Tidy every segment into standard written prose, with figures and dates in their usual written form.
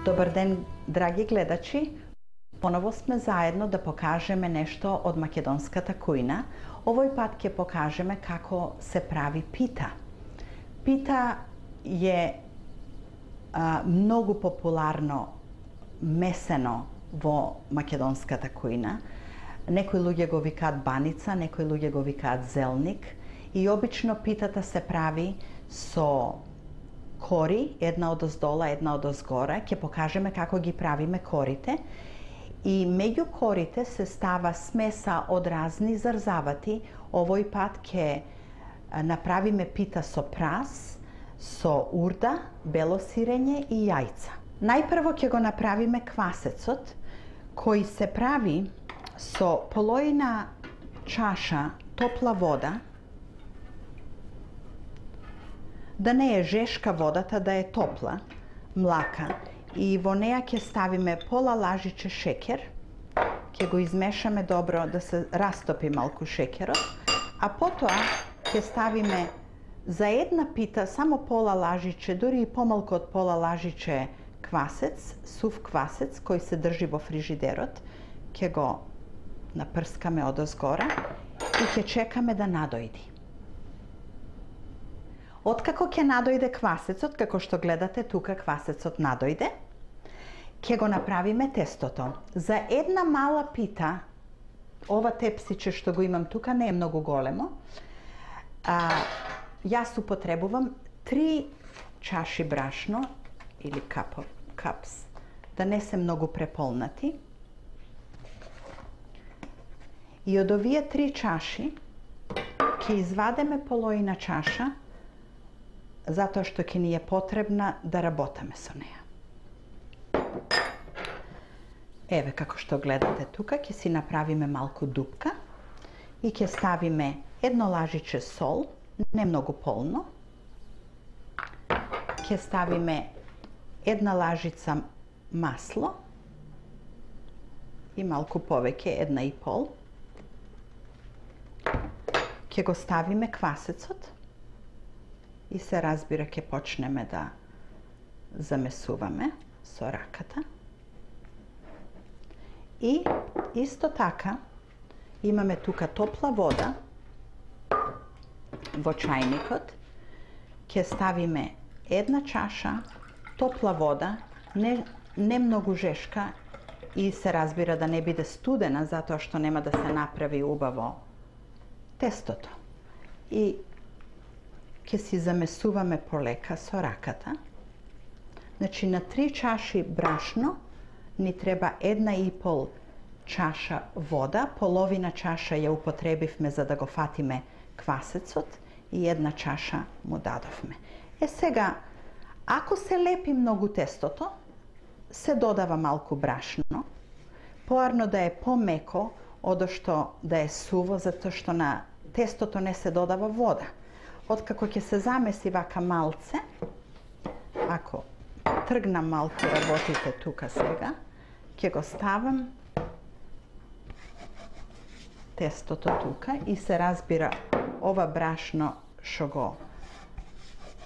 Добар ден, драги гледачи. Поново сме заедно да покажеме нешто од македонската кујна. Овој пат ќе покажеме како се прави пита. Пита е многу популарно месено во македонската кујна. Некои луѓе го викаат баница, некои луѓе го викаат зелник и обично питата се прави со кори, една од оздола, една од озгора. Ќе покажеме како ги правиме корите. И меѓу корите се става смеса од разни зарзавати. Овој пат ќе направиме пита со прас, со урда, бело сирење и јајца. Најпрво ќе го направиме квасецот, кој се прави со половина чаша топла вода, да не е жешка водата, да е топла, млака, и во неа ќе ставиме пола лажиче шеќер, ќе го измешаме добро да се растопи малку шеќерот, а потоа ќе ставиме за една пита само пола лажиче, дури и помалку од пола лажиче квасец, сув квасец кој се држи во фрижидерот, ќе го напрскаме од озгора и ќе чекаме да надојди. Откако ќе надојде квасецот, како што гледате тука квасецот надојде, ќе го направиме тестото. За една мала пита, ова тепсиче што го имам тука не е многу големо, јас употребувам 3 чаши брашно или капс, да не се многу преполнати. И од овие 3 чаши ќе извадеме половина чаша, затоа што ќе ни е потребна да работаме со неа. Еве како што гледате тука, ќе си направиме малку дупка и ќе ставиме едно лажиче сол, не многу полно. Ќе ставиме една лажица масло и малку повеќе, 1,5. Ќе го ставиме квасецот и се разбира ќе почнеме да замесуваме со раката. И исто така имаме тука топла вода во чајникот. Ќе ставиме една чаша топла вода, не многу жешка и се разбира да не биде студена, затоа што нема да се направи убаво тестото. И ќе си замесуваме полека со раката. Значи на 3 чаши брашно ни треба 1,5 чаша вода, половина чаша ја употребивме за да го фатиме квасецот и 1 чаша му дадовме. Сега, ако се лепи многу тестото, се додава малку брашно, поарно да е помеко, одошто да е суво, затоа што на тестото не се додава вода. Откако ќе се замеси вака малце, ако тргнам малку работите тука сега, ќе го ставам тестото тука и се разбира ова брашно што го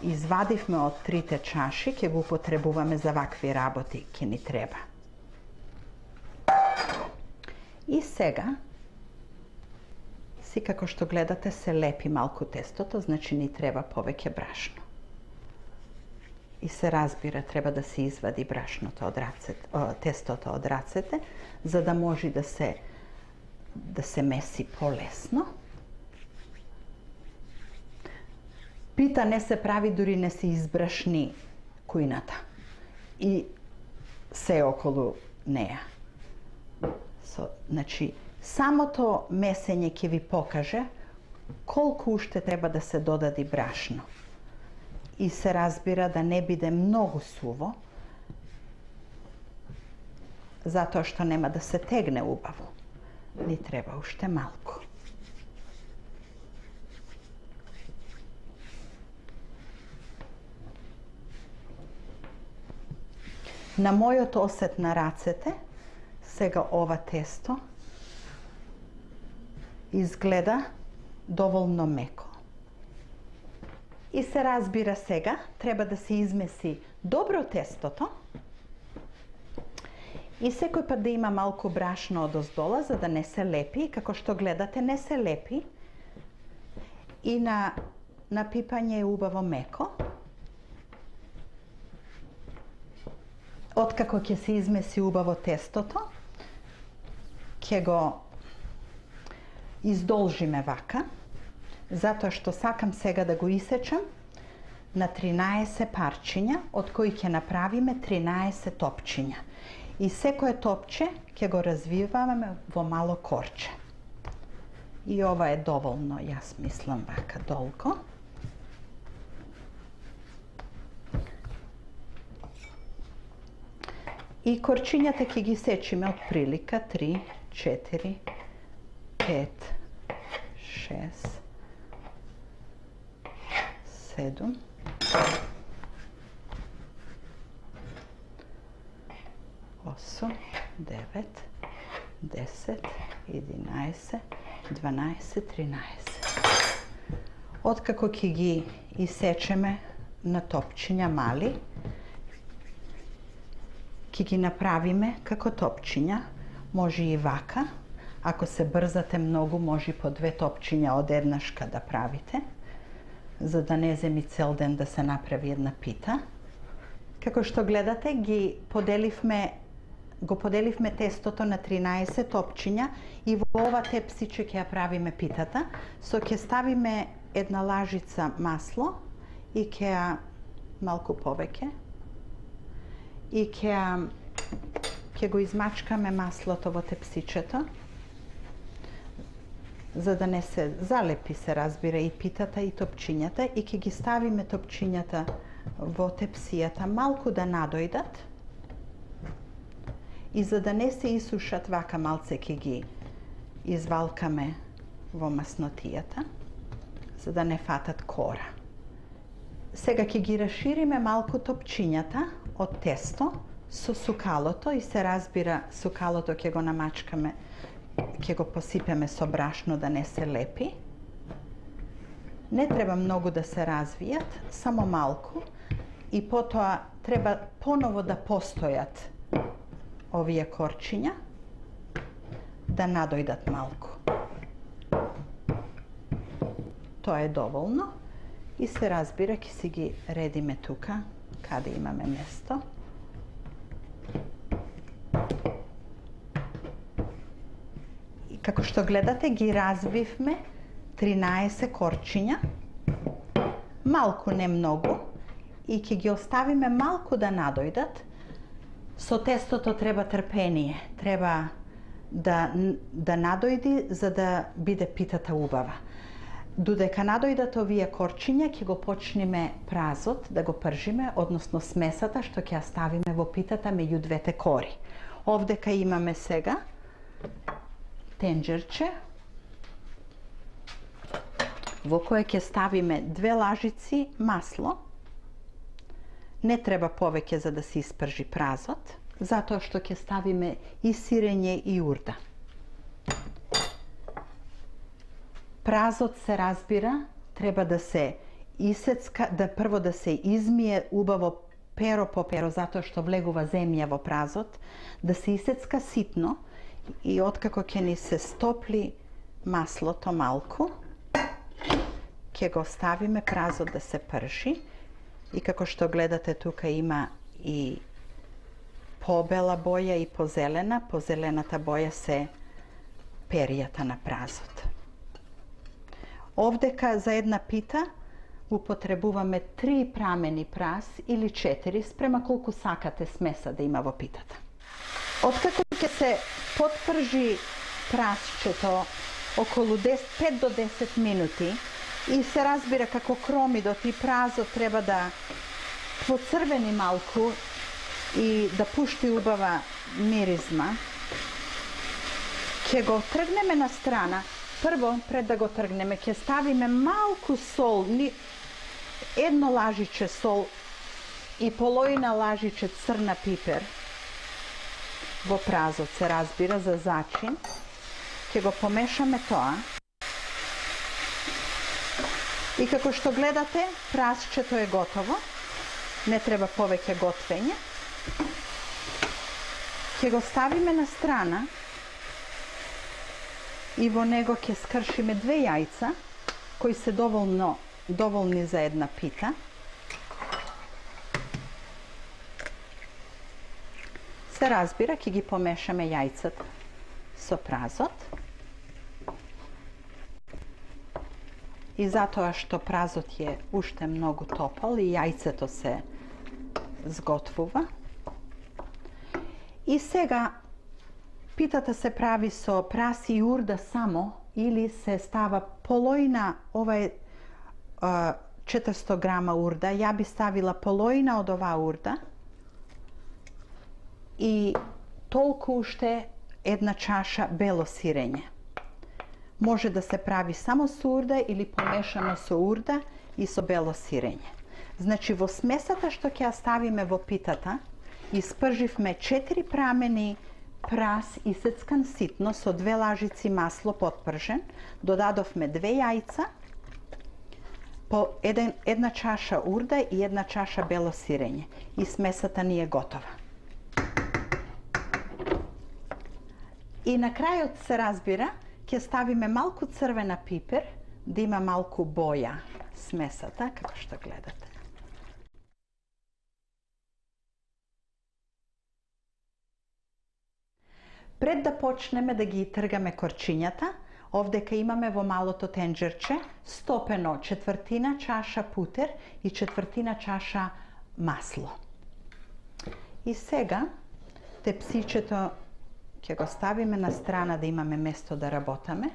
извадивме од 3 чаши, ќе го употребуваме за вакви работи, ќе ни треба. И сега, си како што гледате се лепи малку тестото, значи ни треба повеќе брашно. И се разбира, треба да се извади брашното од рацете, тестото од рацете, за да може да се меси полесно. Пита не се прави дури не се избрашни кујната и се околу неа. Значи, самото месење ќе ви покаже колку уште треба да се додади брашно. И се разбира да не биде многу суво, затоа што нема да се тегне убаво. Ни треба уште малку. На мојот осет на рацете, сега ова тесто изгледа доволно меко. И се разбира сега, треба да се измеси добро тестото И секој пат да има малку брашно одоздола за да не се лепи, како што гледате не се лепи. И на пипање е убаво меко. Откако ќе се измеси убаво тестото, ќе го издолжиме вака, затоа што сакам сега да го исечам на 13 парчиња, од кои ќе направиме 13 топчиња. И секое топче ќе го развиваме во мало корче. И ова е доволно, јас мислам вака долго. И корчињата ќе ги сечиме од прилика 3, 4, 5, 6, 7, 8, 9, 10, 11, 12, 13. Откако ќе ги исечеме на топчиња мали, ќе ги направиме како топчиња, може и вака. Ако се брзате многу, може по 2 топчиња од еднашка да правите, за да не земи цел ден да се направи една пита. Како што гледате, го поделивме тестото на 13 топчиња и во ова тепсиче ќе ја правиме питата. Ќе ставиме една лажица масло и ќе малку повеќе и ќе го измачкаме маслото во тепсичето, за да не се залепи, се разбира, и питата и топчињата, и ќе ги ставиме топчињата во тепсијата малку да надојдат, и за да не се исушат, вака малце ќе ги извалкаме во маснотијата, за да не фатат кора. Сега ќе ги расшириме малку топчињата од тесто со сукалото, и се разбира, сукалото ќе го намачкаме, ќе го посипеме со брашно да не се лепи. Не треба многу да се развијат, само малку, и потоа треба поново да постојат овие корчиња, да надојдат малку. Тоа е доволно и се разбира, ќе си ги редиме тука, каде имаме место. И како што гледате, ги разбивме 13 корчиња, малку, не многу, и ќе ги оставиме малку да надојдат. Со тестото треба трпение, треба да надојди за да биде питата убава. Додека надојдат овие корчиња, ќе го почнеме празот да го пржиме, односно смесата што ќе ја ставиме во питата меѓу двете кори. Овдека имаме сега тенџерче во кое ќе ставиме 2 лажици масло. Не треба повеќе за да се испржи празот, затоа што ќе ставиме и сирење и урда. Празот, се разбира, треба да се исецка, да прво да се измие убаво перо по перо, затоа што влегува земја во празот, да се исецка ситно, и откако ќе ни се стопли маслото малку, ќе го ставиме празот да се пржи. И како што гледате, тука има и побела боја и позелена. Позелената боја се перијата на празот. Овдека за една пита употребуваме 3 прамени праз или 4, спрема колку сакате смеса да има во питата. Откако ќе се потпржи празчето околу 5 до 10 минути, и се разбира како кромидот и празот треба да поцрвени малку и да пушти убава миризма, ќе го тргнеме на страна. Прво, пред да го тргнеме, ќе ставиме малку сол, едно лажиче сол и половина лажиче црна пипер во празот, се разбира, за зачин. Ќе го помешаме тоа. И како што гледате, празчето е готово. Не треба повеќе готвење. ќе го ставиме на страна и во него ќе скршиме 2 јајца кои се доволни за една пита. Се разбира, ќе ги помешаме јајцата со празот. И затоа што празот е уште многу топол и јајцето се зготвува. И сега питата се прави со прас и урда само или се става полојна, ова е 400 грама урда, ја би ставила полојна од оваа урда и толку уште една чаша бело сирење. Може да се прави само со урда или помешано со урда и со бело сирење. Значи во смесата што ќе ја ставиме во питата, испрживме 4 прамени прас исецкан ситно со 2 лажици масло потпржен, додадовме 2 јајца, по една чаша урда и една чаша бело сирење и смесата ни е готова. И на крајот се разбира, ќе ставиме малку црвена пипер, да има малку боја смесата, како што гледате. Пред да почнеме да ги тргаме корчињата, овдека имаме во малото тенџерче стопено 1/4 чаша путер и 1/4 чаша масло. И сега тепсичето ќе го ставиме на страна да имаме место да работаме.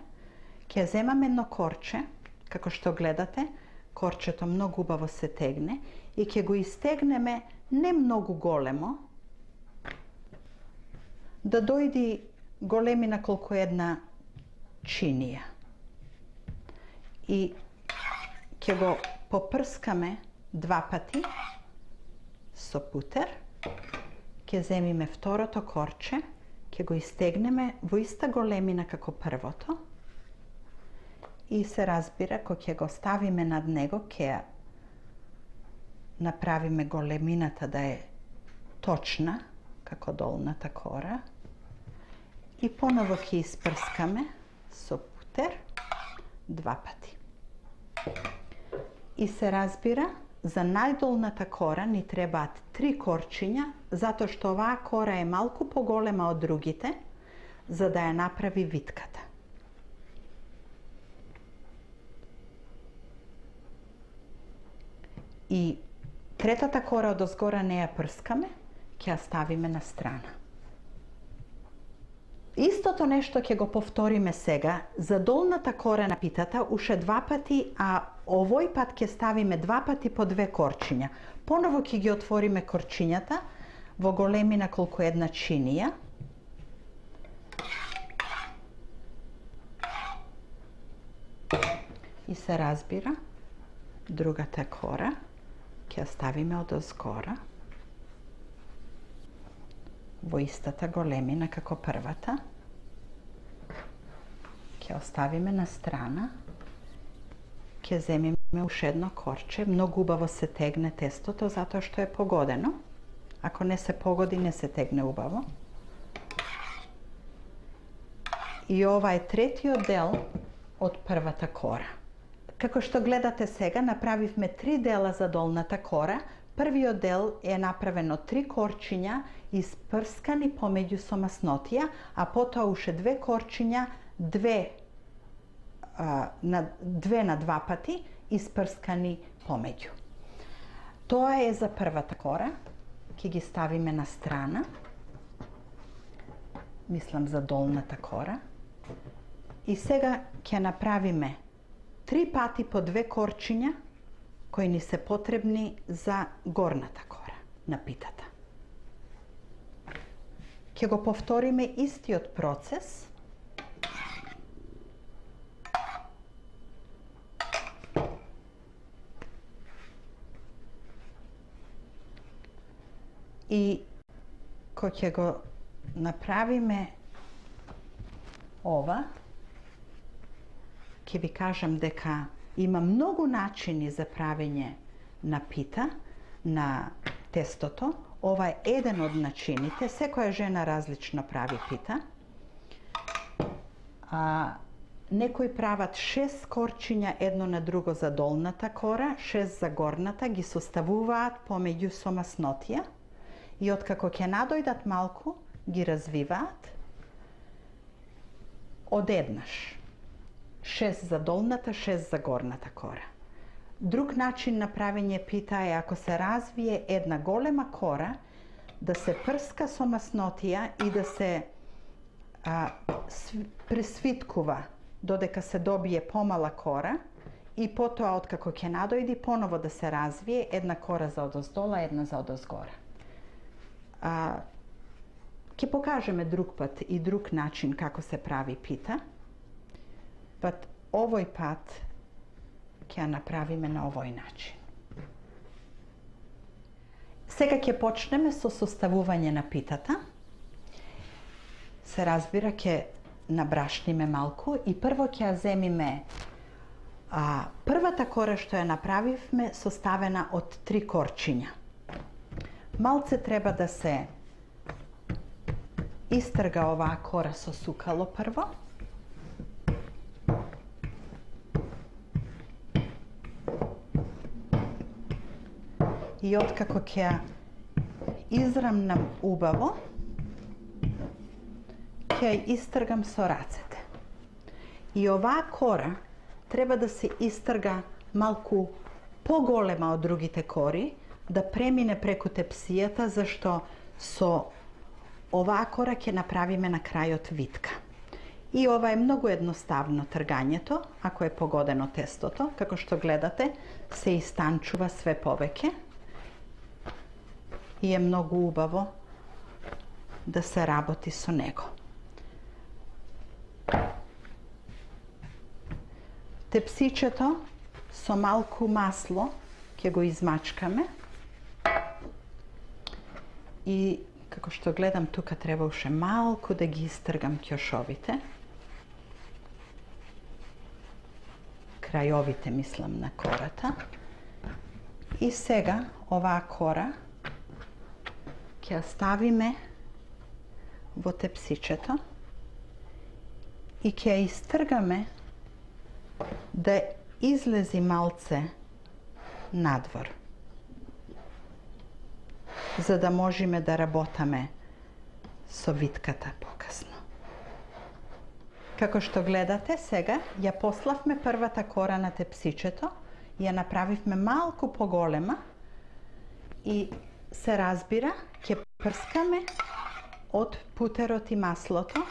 Ќе земаме едно корче, како што гледате, корчето многу убаво се тегне и ќе го истегнеме не многу големо, да дојди големина колку една чинија. И ќе го попрскаме 2 пати со путер. Ќе земиме второто корче, ќе го истегнеме во иста големина како првото и се разбира, кога ќе го ставиме над него, ќе направиме големината да е точна, како долната кора и поново ќе испрскаме со путер 2 пати. И се разбира, за најдолната кора ни требаат 3 корчиња, затоа што оваа кора е малку поголема од другите, за да ја направи витката. И третата кора од озгора не ја прскаме, ќе ја ставиме на страна. Истото нешто ќе го повториме сега за долната кора на питата уште 2 пати, а овој пат ќе ставиме 2 пати по 2 корчиња. Поново ќе ги отвориме корчињата во големина колку една чинија. И се разбира, другата кора ќе ја ставиме од озгора во истата големина како првата. Ќе оставиме на страна. Ќе земиме уште едно корче. Многу убаво се тегне тестото, затоа што е погодено. Ако не се погоди, не се тегне убаво. И ова е третиот дел од првата кора. Како што гледате сега, направивме 3 дела за долната кора. Првиот дел е направен од 3 корчиња, испрскани помеѓу со маснотија, а потоа уште 2 корчиња, 2 на 2 пати, испрскани помеѓу. Тоа е за првата кора. Ќе ги ставиме на страна. Мислам за долната кора. И сега ќе направиме 3 пати по 2 корчиња, кои ни се потребни за горната кора на питата. Ќе го повториме истиот процес. И кога ќе го направиме ова, ќе ви кажам дека има многу начини за правење на пита, на тестото. ова е еден од начините, секоја жена различно прави пита. Некои прават 6 корчиња едно на друго за долната кора, 6 за горната, ги составуваат помеѓу со маснотија и откако ќе надојдат малку, ги развиваат одеднаш. 6 за долната, 6 за горната кора. Друг начин на правење пита е ако се развие една голема кора, да се прска со маснотија и да се пресвиткува додека се добие помала кора и потоа откако ќе надојди поново да се развие една кора за одоздола, една за одозгора. Ќе покажеме друг пат и друг начин како се прави пита. Овој пат ќе ја направиме на овој начин. Сега ќе почнеме со составување на питата. Се разбира, ќе набрашниме малку и прво ќе ја земиме првата кора што ја направивме составена од 3 корчиња. Малце треба да се истрга оваа кора со сукало прво. И откако ќе ја израмнам убаво, ќе ја истргам со рацете. И оваа кора треба да се истрга малку поголема од другите кори, да премине преку тепсијата, зашто со оваа кора ќе направиме на крајот витка. И ова е многу едноставно тргањето, ако е погодено тестото, како што гледате, се истанчува све повеќе и е многу убаво да се работи со него. Тепсичето со малку масло ќе го измачкаме и како што гледам тука треба уште малку да ги истргам ќошовите. Крајовите мислам на кората. И сега оваа кора ќе ја ставиме во тепсичето и ќе ја истргаме да излези малце надвор, за да можеме да работаме со витката покасно. Како што гледате, сега ја пославме првата кора на тепсичето, ја направивме малку поголема и се разбира, ќе прскаме од путерот и маслото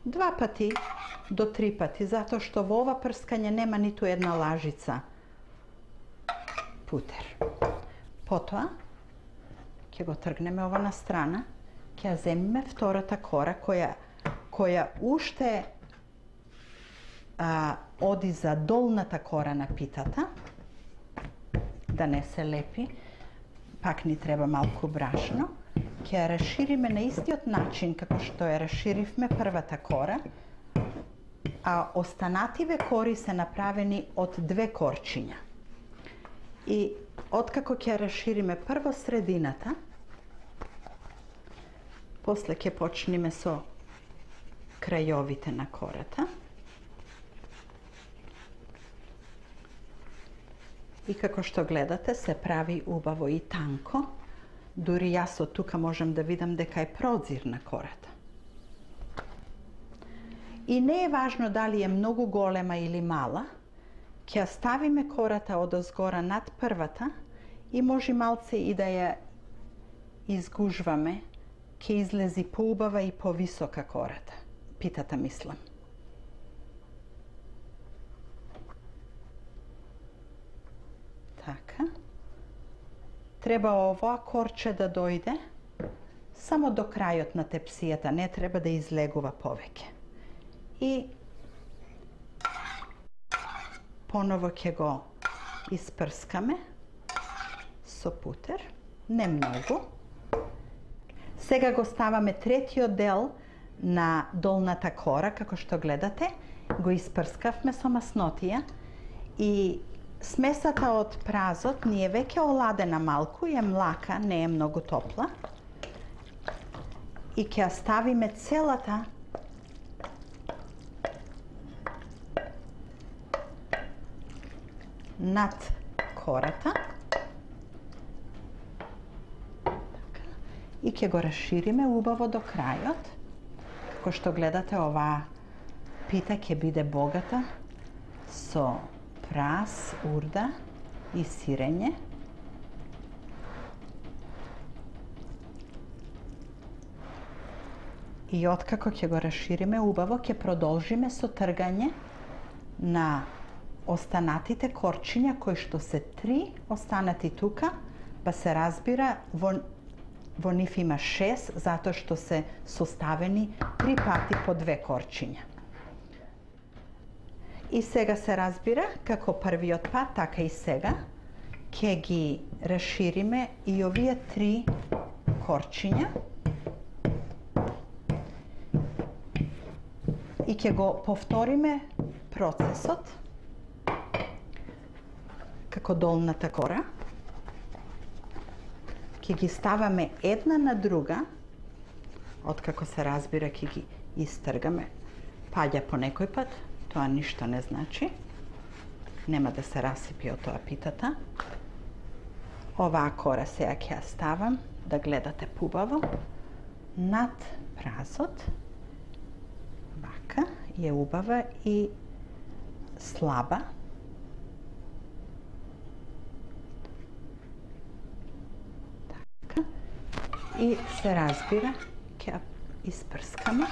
2 пати до 3 пати, затоа што во ова прскање нема ниту една лажица путер. Потоа ќе го тргнеме ова на страна, ќе ја земиме втората кора која уште оди за долната кора на питата, да не се лепи, пак ни треба малку брашно. Ќе ја расшириме на истиот начин како што ја расширивме првата кора, а останативе кори се направени од 2 корчиња. И откако ќе ја расшириме прво средината, после ќе почнеме со крајовите на кората. И како што гледате, се прави убаво и танко. Дури јас од тука можам да видам дека е прозир на кората. И не е важно дали е многу голема или мала, ќе ја ставиме кората одозгора над првата и може малце и да ја изгужваме, ќе излези поубава и повисока кората. Питата мислам. Така. Треба овоа корче да дојде само до крајот на тепсијата, не треба да излегува повеќе. И поново ќе го испрскаме со путер, не многу. Сега го ставаме третиот дел на долната кора, како што гледате, го испрскавме со маснотија и Смесата од празот ни е веќе оладена малку, е млака, не е многу топла. И ќе ја ставиме целата над кората. И ќе го расшириме убаво до крајот. Како што гледате, оваа пита ќе биде богата со прас, урда и сирење. И откако ќе го расшириме убаво, ќе продолжиме со тргање на останатите корчиња, кои што се 3 останати тука, па се разбира во нив има 6, затоа што се составени 3 пати по 2 корчиња. И сега се разбира, како првиот пат, така и сега, ќе ги расшириме и овие 3 корчиња и ќе го повториме процесот како долната кора. Ќе ги ставаме една на друга, откако се разбира ќе ги истргаме. Паѓа по некој пат, тоа ништо не значи. Нема да се расипи од тоа питата. Оваа кора сега ќе ја ставам, да гледате пубаво, над празот. Вака, е убава и слаба. И се разбира, ќе ја испрскаме.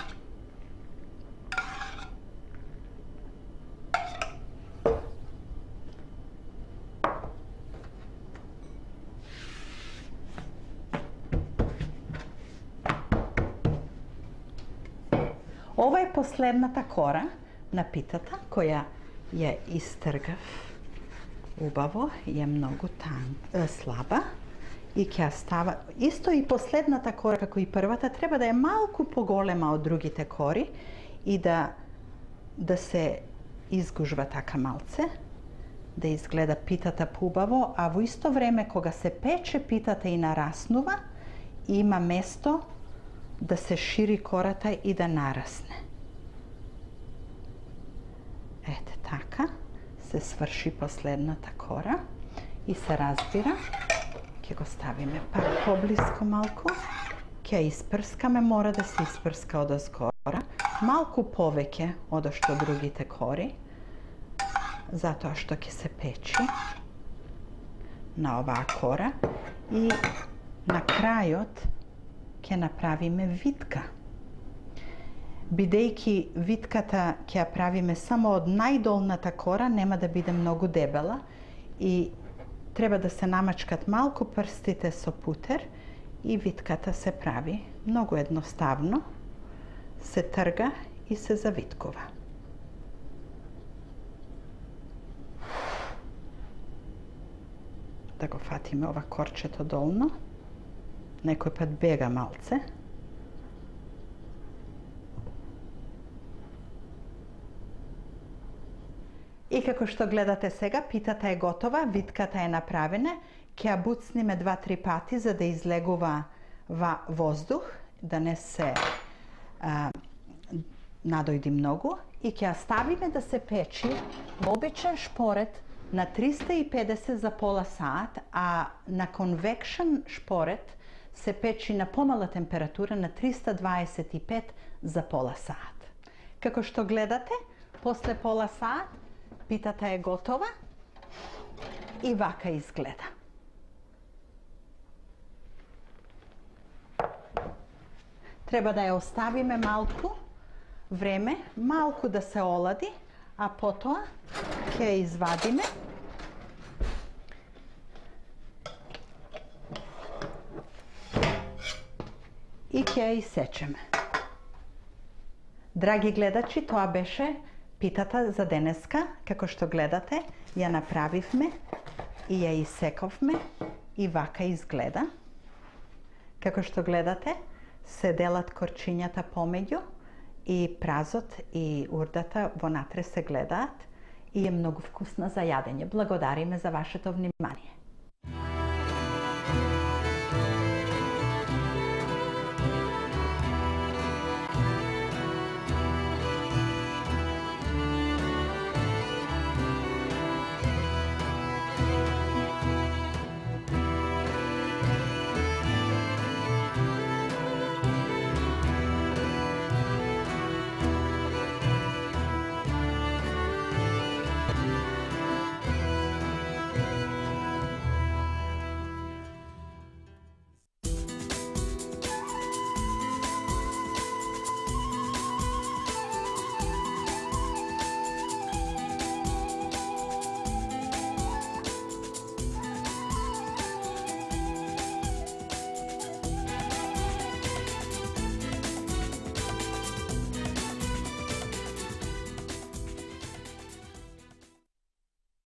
Ова е последната кора на питата, која ја истргав убаво, е многу слаба. И ќе става исто и последната кора како и првата, треба да е малку поголема од другите кори и да се изгужва така малце, да изгледа питата поубаво, а во исто време кога се пече питата и нараснува, има место да се шири кората и да нарасне. Ете така се сврши последната кора и се разбира. Ќе го ставиме пак поблиско малку, ќе испрскаме, мора да се испрска од озгора, малку повеќе од што другите кори, затоа што ќе се печи на оваа кора и на крајот ќе направиме витка. Бидејќи витката ќе ја правиме само од најдолната кора, нема да биде многу дебела и треба да се намачкат малку прстите со путер и витката се прави многу едноставно, се трга и се завиткува. Да го фатиме ова корчето долно, некој пат бега малце. И како што гледате сега, питата е готова, витката е направена, ќе ја буцниме 2-3 пати за да излегува воздух, да не се надојди многу и ќе ја ставиме да се печи во обичен шпорет на 350 за пола саат, а на конвекшн шпорет се печи на помала температура на 325 за пола саат. Како што гледате, после пола саат питата е готова и вака изгледа. Треба да ја оставиме малку време, малку да се олади, а потоа ќе ја извадиме и ќе ја исечеме. Драги гледачи, тоа беше питата за денеска. Како што гледате, ја направивме и ја исековме и вака изгледа. Како што гледате, се делат корчињата помеѓу и празот и урдата вонатре се гледаат и е многу вкусна за јадење. Благодариме за вашето внимание.